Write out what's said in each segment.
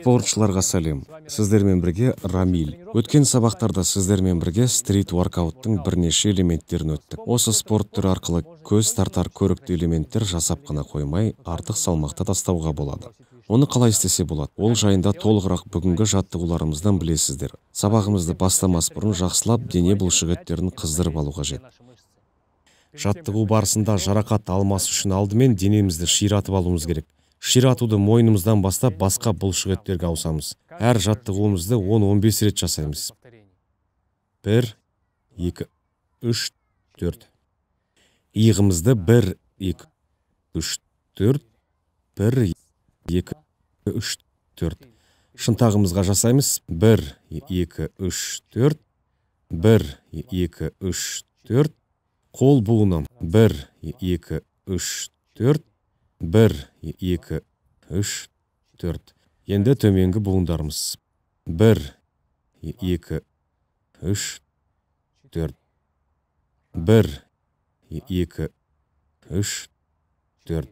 Спортшыларға сәлем. Сіздермен бірге Рамиль. Өткен сабақтарда сіздермен бірге стрит воркауттың бірнеше элементтерін өттік. Осы спорт түрі арқылы көз тартар көрікті элементтер жасап қана қоймай, артық салмақты тастауға болады. Оны қалай істесе болады? Ол жайында толығырақ бүгінгі жаттығуларымыздан білесіздер. Сабағымызды бастамас бұрын жақсылап дене бұлшықеттерін қыздырып алу қажет. Жаттығу барысында жарақат алмас үшін алдымен денемізді ширатып алуымыз керек. Ширатуды мойнымыздан бастап басқа бұлшықеттерге ауысамыз. Әр жаттығуымызды 10-15 рет жасаймыз. 1, 2, 3, 4. Иығымызды 1, 2, 3, 4. 1, 2, 3, 4. Шынтағымызға жасаймыз. 1, 2, 3, 4. 1, 2, 3, 4. Қол буынам. 1, 2, 3, 4. 1, 2, 3, 4. Енді төменгі буындарымыз. 1, 2, 3, 4. 1, 2, 3, 4.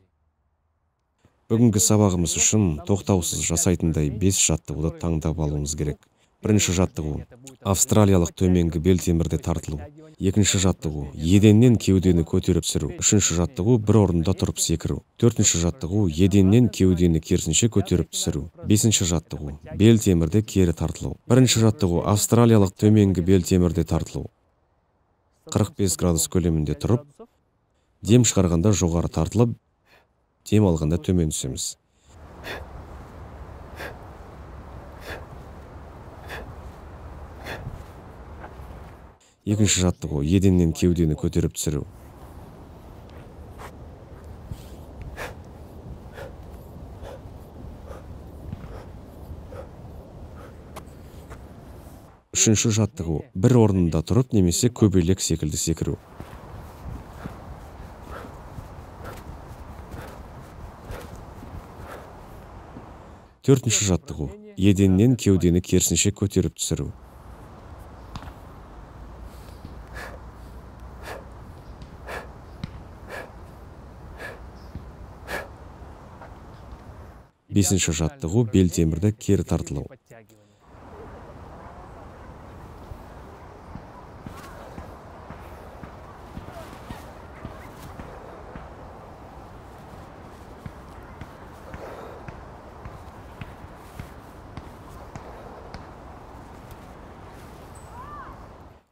Бүгінгі сабағымыз үшін тоқтаусыз жасайтындай 5 жаттығуды таңдап алуымыз керек. Бірінші жаттығу – австралиялық төменгі бел темірде тартылу. Екінші жаттығу – еденнен кеудені көтеріп түсіру. Үшінші жаттығу – бір орында тұрып секіру. Төртінші жаттығу – еденнен кеудені керісінше көтеріп түсіру. Бесінші жаттығу – бел темірде кері тартылу. Бірінші жаттығу – австралиялық төменгі бел темірде тартылу. 45 градус көлемінде тұрып, дем шығарғанда жоғары тартылып, дем алғанда төмен түсеміз. Екінші жаттығу – еденнен кеудені көтеріп түсіру. Үшінші жаттығу – бір орнында тұрып немесе көбелек секілді секіру. Төртінші жаттығу – еденнен кеудені керісінше көтеріп түсіру. Бесінші жаттығу – бел темірді кері тартылу.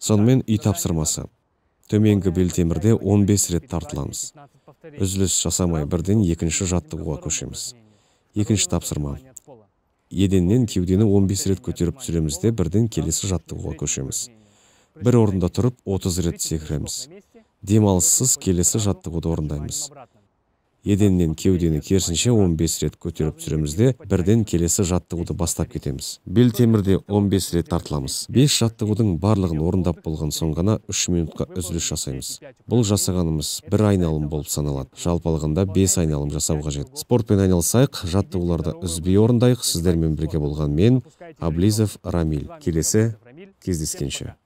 Сонымен үй тапсырмасы. Төменгі бел темірде 15 рет тартыламыз. Үзіліс жасамай бірден екінші жаттығуға көшеміз. Екінші тапсырма. Еденнен кеудені 15 рет көтеріп түсіреміз де бірден келесі жаттығуға көшеміз. Бір орында тұрып 30 рет секіреміз. Демалыссыз келесі жаттығуды орындаймыз. Еденнен кеудені керісінше 15 рет көтеріп түсіреміз де бірден келесі жаттығуды бастап кетеміз. Бел темірде 15 рет тартыламыз. 5 жаттығудың барлығын орындап болған соң ғана 3 минутқа үзіліс жасаймыз. Бұл жасағанымыз бір айналым болып саналады. Жалпы алғанда 5 айналым жасау қажет. Спортпен айналысайық, жаттығуларды үзбей орындайық. Сіздермен бірге болған мен, Аблизов Рамиль. Келесі кездескенше.